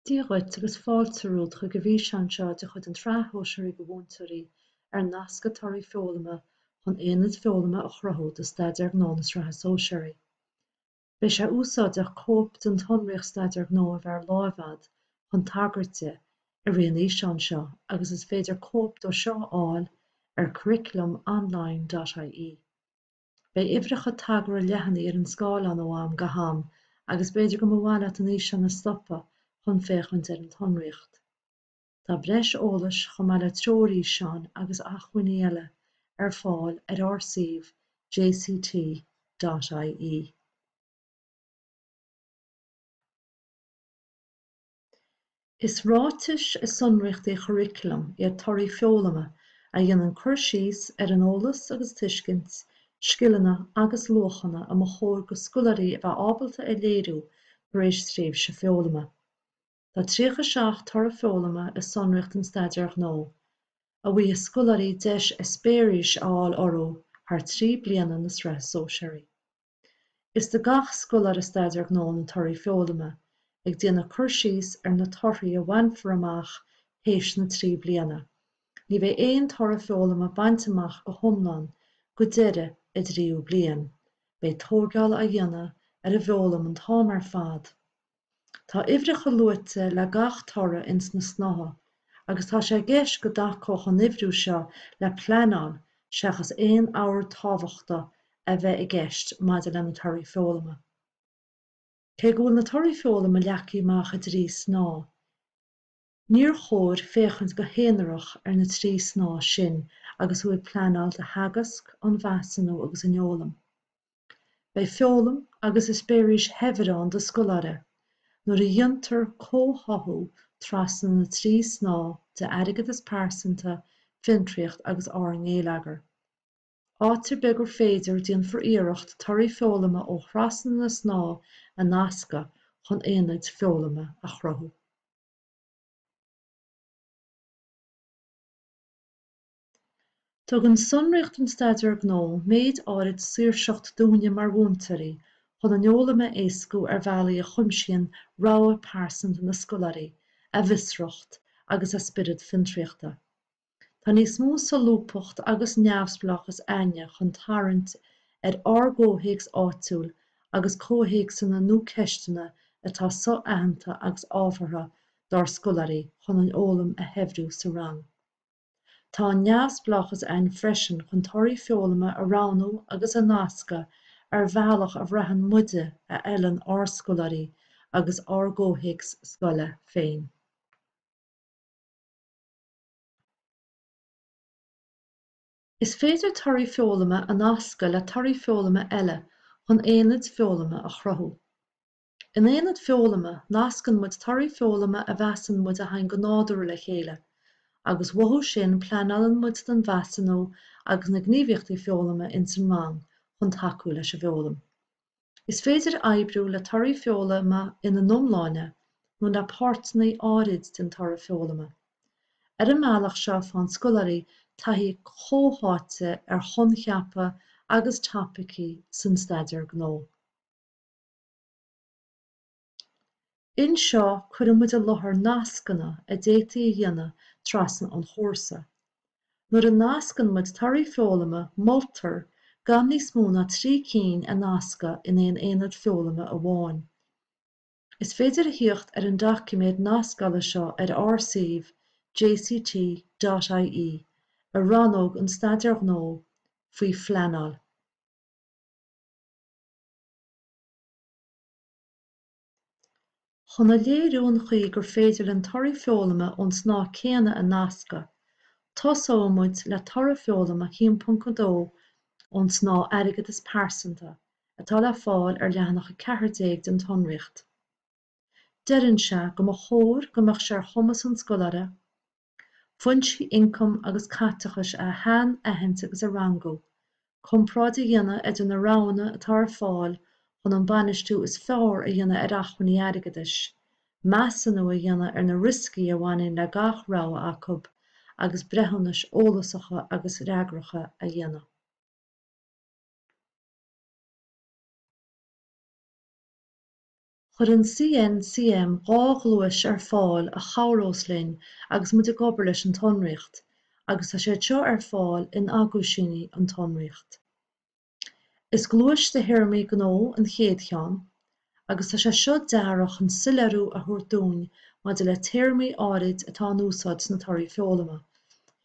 Dia dhuit agus fáilte romhat chuig an bhfíseán seo de chuid an tSraith Shóisearaigh do Mhúinteoirí ar nascadh torthaí foghlama chun aonaid foghlama a chruthú do Staidéar Gnó na Sraithe Sóisearaí. Beidh sé úsáideach cóip den tsonraíocht Staidéar Gnó a bheith ar láimh agat chun tagairt di i rith an fhíseáin seo agus is féidir cóip dó seo a fháil ar curriculumonline.ie. Beidh uimhreacha tagartha leathanaigh ar an scáileán ó am go ham agus b'fhéidir go mba mhaith leat an fhíseán a stopadh chun féachaint ar an tsonraíocht. Tá breis eolais, chomh maith le treoirfhíseáin agus acmhainní eile, ar fáil ar ár suíomh jct.ie. Is ráitis i sonraíochtaí churaclaim iad torthaí foghlama a dhéanann cur síos ar an eolas agus tuiscint, scileanna agus luachanna a mba chóir do scoláirí a bheith ábalta a léiriú tar éis tréimhse foghlama. Tá 37 toradh foghlama i sonraíocht an Staidéir Ghnó, a bhfaighidh scoláirí deis eispéiris a fháil orthu thar 3 bliana na Sraithe Sóisearaí. Is do gach scoláire Staidéar Gnó na torthaí foghlama, ag déanamh cur síos ar na torthaí a bhainfear amach théis na dtrí bliana. Ní bheidh aon toradh foghlama bainte amach go hiomlán go deireadh a dtríú bliain, beidh tóigeáil á dhéanamh ar an bhfoghlaim an t-am ar fad. Tá uimhreacha luaite le gach toradh ins na snáithe agus tá sé i gceist go dtacódh an uimhriú seo le pleanáil seachas aon ord tábhachta a bheith i gceist maidir le na torthaí foghlama. Cé go bhfuil na torthaí foghlama leagtha amach i dtrí snáth, Níor chóir féachaint go haonarach ar na 3 snáth sin agus thú ag pleanáil do theagasc, an mheasúnú agus an fhoghlaim. Beidh foghlaim agus eispéiris shaibhir ann do scoláire nuair a dhéantar comhtháthú trasna na 3 snáth de airgeadas pearsanta, fiontraíocht agus ár ngeilleagar. Áit ar bith gur féidir, déanfar iarracht torthaí foghlama ó thrasna na snáth a nascadh chun aonaid foghlama a chruthú. Tugann sonraíocht an Staidéir Gnó méid áirid saoirseacht dúinne mar mhúinteoirí chun an fhoghlaim a éascú ar bhealaí a chuimsíonn rogha pearsanta na scoláirí, a bhfiosracht agus a spiorad fiontraíochta. Tá níos mó solúbthacht agus neamhspleáchas a'inne chun tarraingt ar ár gcomhthéacs áitiúil agus comhthéacsanna nó ceisteanna atá so-aitheanta agus ábhartha dár scoláirí chun an fhoghlaim a shaibhriú sa rang. Tá an neamhspleáchas a'inn freisin chun torthaí foghlama a roghnú agus a nascadh ar bhealach a bhraitheann muide a fheileann ár scoláirí agus ár gcomhthéacs scoile féin. Is féidir torthaí foghlama a nascadh le torthaí foghlama eile chun aonaid foghlama a chruthú. In aonad foghlama, nascann muid torthaí foghlama a mheasann muid a thagann go nádúrtha le chéile, agus uathu sin pleanálann muid don mheasúnú agus na gníomhaíochtaí foghlama ins an rang chun tacú leis an bhfoghlaim. Is féidir oibriú le torthaí foghlama ina n-iomláine nó le páirteanna áirid den toradh foghlama. Ar an mbealach seo faigheann scoláirí taithí chomhtháite ar choincheapa agus topaicí san staidéar gnó. Anseo cuireann muid i láthair nascanna a d'fhéadfaí a dhéanamh trasna an chúrsa. Nuair a nascann muid torthaí foghlama moltar gan níos mó ná 3 cinn a nascadh in aon aonad foghlama amháin. Is féidir a thíocht ar an doiciméad nascála seo ar ár suíomh jct.ie i rannóg an Staidéir Ghnó faoi Phleanáil. Chun a léiriú an chaoi gur féidir linn torthaí foghlama ón snáth céanna a nascadh, tosóidh muid le toradh foghlama 1.2 ón snáth Airgeadas Pearsanta atá le fáil ar leathanach 14 den tsonraíocht. Deireann sé go mba chóir go mbeadh sé ar chumas an scoláire, Foinsí ioncaim agus caiteachais a shainaithint agus a rangú, comparáid a dhéanamh idir na roghanna atá ar fáil chun an bainistiú is fearr a dhéanamh ar acmhainní airgeadais, measúnú a dhéanamh ar na rioscaí a bhaineann le gach rogha acu agus breithiúnais eolasacha agus fhreagracha a dhéanamh. Chuir an CNCM 2 ghluais ar fáil a chabhrós linn agus muid ag obair leis an tsonraíocht, agus tá siad seo ar fáil in aguisíní an tsonraíocht. Is gluais de théarmaí gnó an chéad cheann, agus tá sé seo deartha chun soiléiriú a thabhairt dúinn maidir le téarmaí áirid atá in úsáid sna torthaí foghlama,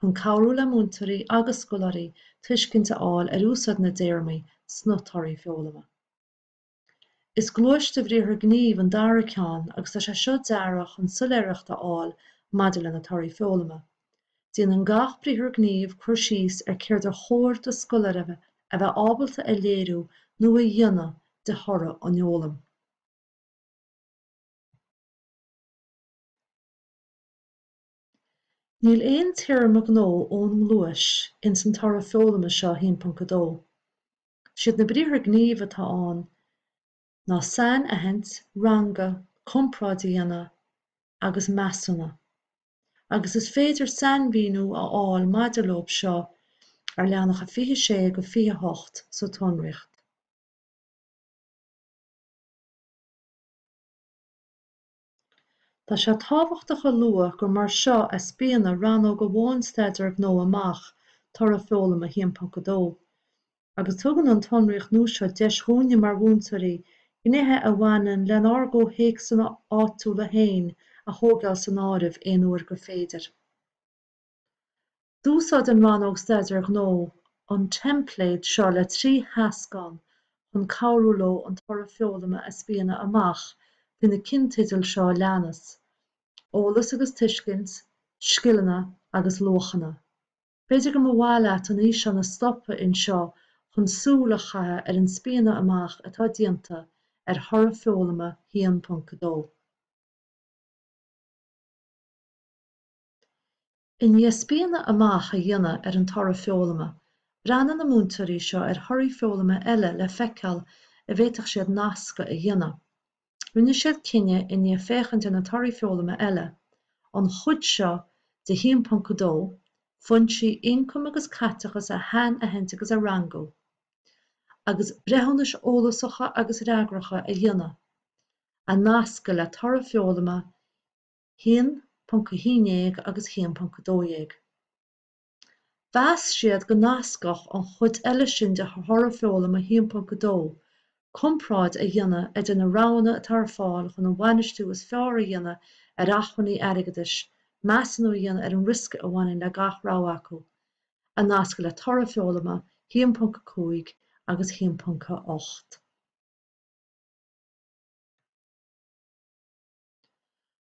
chun cabhrú le múinteoirí agus scoláirí tuiscint a fháil ar úsáid na dtéarmaí sna torthaí foghlama. Is gluais de bhriathra gnímh an dara ceann agus tá sé seo deartha chun soiléireacht a fháil maidir le na torthaí foghlama. Déanann gach briathar gnímh cur síos ar céard ar chóir do scoláire a bheith ábalta a léiriú nó a dhéanamh de thoradh an fhoghlaim. Níl aon téarma gnó ón ngluais ins an toradh foghlama seo 1.2. Siad na briathra gnímh atá ann ná sainaithint, rangadh, comparáid a dhéanamh agus measúnú, agus is féidir sainmhíniú a fháil maidir leo seo ar leathanacha 26-28 sa tsonraíocht. Tá sé tábhachtach a lua gur mar seo a spíonadh rannóg amháin Staidéar Gnó amach toradh foghlama 1.2, agus tugann an tsonraíocht nua seo deis dhúinne mar mhúinteoirí gnéithe a bhaineann lenár gcomhthéacsanna áitiúla féin a thógáil san áireamh aon uair gur féidir. D'úsáid an Rannóg Staidéar Gnó an teimpléad seo le 3 theascán chun cabhrú leo an toradh foghlama a spíonadh amach faoi na cinnteidil seo a leanas, Eolas agus Tuiscint, Scileanna agus Luachanna. B'fhéidir go mba mhaith leat an fhíseán a stopadh anseo chun súil a chaitheamh ar an spíonadh amach atá déanta ar thoradh foghlama 1.2. I ndiaidh spíonadh amach a dhéanamh ar an toradh foghlama, bhreathnaigh na múinteoirí seo ar thorthaí foghlama eile le feiceáil an bhféadfadh siad nascadh a dhéanamh. Rinne siad cinneadh i ndiaidh féachaint ar na torthaí foghlama eile, an chuid seo de 1.2, foinsí ioncaim agus caiteachas a shainaithint agus a rangú, agus breithiúnais eolasacha agus fhreagracha a dhéanamh, a nascadh le toradh foghlama 1.11 agus 1.12. Mheas siad go nascfadh an chuid eile sin de thoradh foghlama 1.2 comparáid a dhéanamh idir na roghanna atá ar fáil chun an bainistiú is fearr a dhéanamh ar acmhainní airgeadais, measúnú a dhéanamh ar an riosca a bhaineann le gach rogha acu, a nascadh le toradh foghlama 1.5 agus 1.8.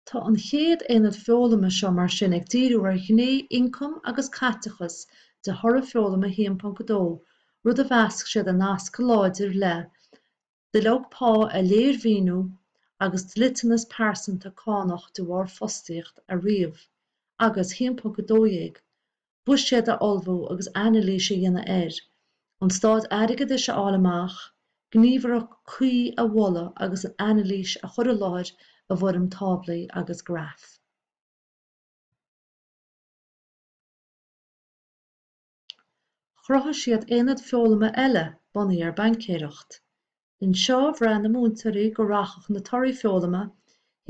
Tá an chéad aonad foghlama seo mar sin ag díriú ar ghné ioncaim agus caiteachas de thoradh foghlama 1.2, rud a mheas siad a nasc go láidir le duilleog pá a léirmhíniú agus dliteanas pearsanta cánach de bharr fostaíocht a ríomh, agus 1.12, buiséad a ullmhú agus anailís a dhéanamh air, an staid airgeadais a fháil amach, gníomhartha cuí a mholadh agus an anailís a chur i láthair i bhfoirm táblaí agus graf. Chruthaigh siad aonad foghlama eile bunaithe ar baincéireacht. Anseo bhraith na múinteoirí go rachadh na torthaí foghlama,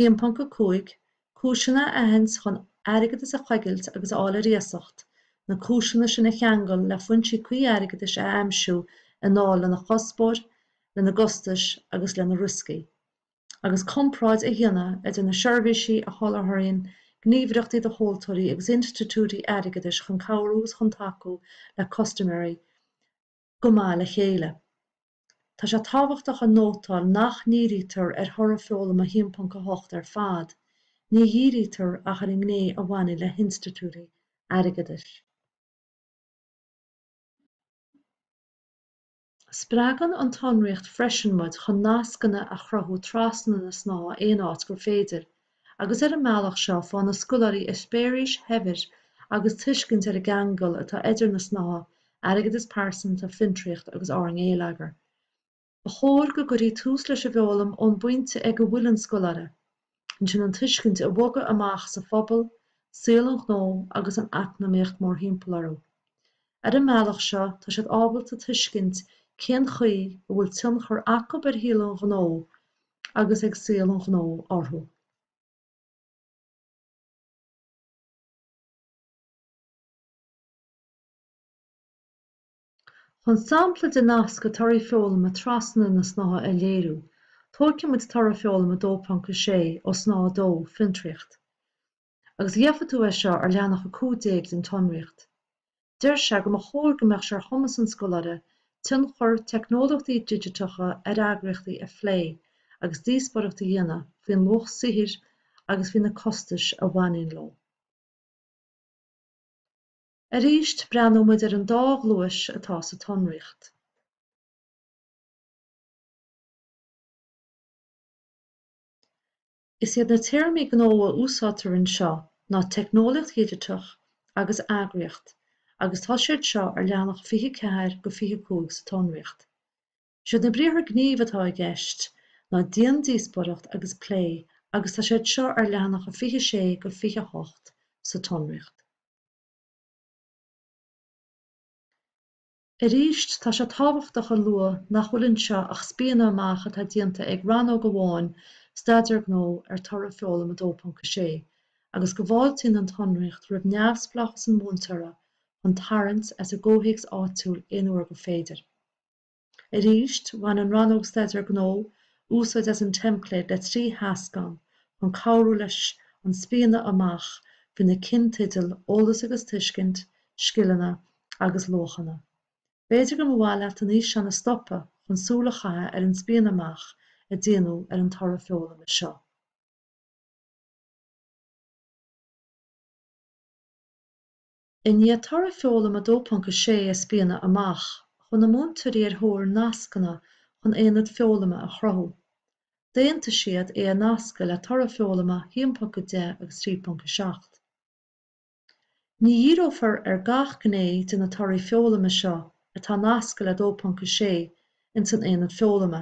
1.5, cúiseanna a aithint chun airgeadas a choigilt agus a fháil ar iasacht, na cúiseanna sin a cheangal le foinsí cuí airgeadais a aimsiú i ndáil lena chuspóir, lena gcostais agus lena rioscaí, agus comparáid a dhéanamh idir na seirbhísí a sholáthraíonn gníomhaireachtaí do thomhaltóirí agus institiúidí airgeadais chun cabhrú agus chun tacú le custaiméirí go maith le chéile. Tá sé tábhachtach a nótáil nach ndírítear ar thoradh foghlama 1.8 ar fad, ní dhírítear ach ar an ngné a bhaineann le hinstitiúidí airgeadais. Spreagann an tsonraíocht freisin muid chun nascanna a chruthú trasna na snáithe aon áit gur féidir, agus ar an mbealach seo faigheann na scoláirí eispéiris shaibhir agus tuiscint ar an gceangal atá idir na snáithe airgeadas pearsanta, fiontraíocht agus ár ngeilleagar. Ba chóir go gcuirfí tús leis an bhfoghlaim ón bpointe ag a bhfuil an scoláire, ansin an tuiscint a bhogadh amach sa phobal, saol an ghnó agus an eacnamaíocht mórthimpeall orthu. Ar an mbealach seo tá siad ábalta tuiscint cén chaoi a bhfuil tionchar acu ar shaol an ghnó agus ag saol an ghnó orthu. Chun sampla de nascadh torthaí foghlama trasna na snáithe a léiriú, tógfaidh muid toradh foghlama 2.6 ó Snáithe 2, Fiontraíocht. Agus gheobhaidh tú é seo ar leathanach 15 den tsonraíocht. Deir sé go mba chóir go mbeadh sé ar chumas an scoláire tionchar teicneolaíochtaí digiteacha ar eagraíochtaí a phlé agus díospóireacht a dhéanamh faoin luach saothair agus faoi na costais a bhaineann leo. Arís, breathnóidh muid ar an dá ghluais atá sa tsonraíocht. Is iad na téarmaí gnó a úsáidtear anseo ná teicneolaíocht dhigiteach agus eagraíocht agus tá siad seo ar leathanach 24-25 sa tsonraíocht. Is iad na briathra gnímh atá i gceist ná déan díospóireacht agus pléigh agus tá siad seo ar leathanacha 26-28 sa tsonraíocht. Arís, tá sé tábhachtach a lua nach bhfuil anseo ach spíonadh amach atá déanta ag rannóg amháin Staidéar Gnó ar Toradh Foghlama 2.6 agus go bhfáiltíonn an tsonraíocht roimh neamhspleáchas an mhúinteora chun tarraingt as a gcomhthéacs áitiúil aon uair gur féidir. Arís, bhain an Rannóg Staidéar Gnó úsáid as an teimpléad le 3 theascán chun cabhrú leis an spíonadh amach faoi na cinnteidil Eolas agus Tuiscint, Scileanna agus Luachanna. B'fhéidir go mba mhaith leat an fhíseán a stopadh chun súil a chaitheamh ar an spíonadh amach a déanadh ar an toradh foghlama seo. I ndiaidh toradh foghlama 2.6 a spíonadh amach, chuaigh na múinteoirí ar thóir nascanna chun aonad foghlama a chruthú. D'aontaigh siad é a nascadh le toradh foghlama 1.10 agus 3.7. Ní dhíreofar ar gach gné de na torthaí foghlama seo atá nasctha le 2.6 ins an aonad foghlama.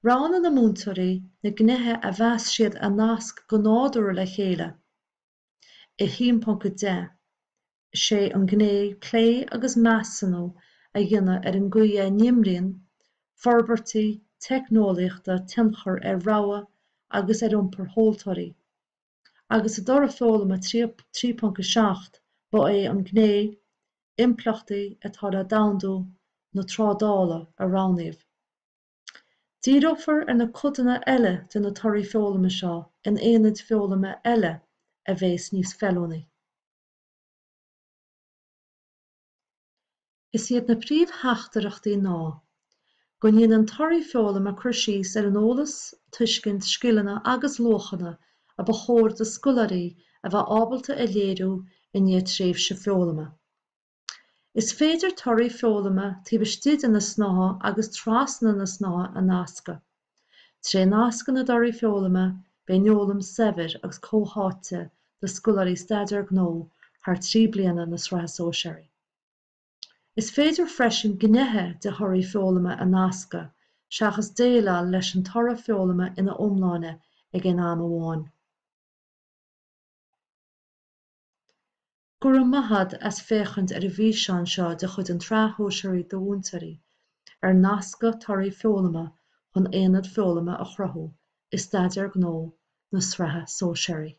Roghnaigh na múinteoirí na gnéithe a mheas siad a nasc go nádúrtha le chéile. I 1.10, is é an ghné plé agus measúnú a dhéanamh ar an gcaoi a n-imríonn forbairtí teicneolaíochta tionchar ar rogha agus ar iompar tomhaltóirí, agus i dtoradh foghlama 3.7 ba é an ghné impleachtaí atá le domhandú na trádála a roghnaíodh. Díreofar ar na codanna eile de na torthaí foghlama seo in aonaid foghlama eile a bheas níos feiliúnaí. Is iad na príomhtheachtaireachtaí ná, Go ndéanann torthaí foghlama cur síos ar an eolas, tuiscint, scileanna agus luachanna a ba chóir do scoláirí a bheith ábalta a léiriú i ndiaidh tréimhse foghlama. Is féidir torthaí foghlama taobh istigh de na snáithe agus trasna na snáithe a nascadh. Tré nascadh na dtorthaí foghlama, beidh an fhoghlaim saibhir agus comhtháite do scoláirí Staidéar Gnó thar 3 bliana na Sraithe Sóisearaí. Is féidir freisin gnéithe de thorthaí foghlama a nascadh seachas déileáil leis an toradh foghlama ina iomláine ag aon am amháin. Go raibh maith agat as féachaint ar an bhfíseán seo de chuid an tSraith Shóisearaí do Mhúinteoirí ar nascadh torthaí foghlama chun aonad foghlama a chruthú i Staidéar Gnó na Sraithe Sóisearaí.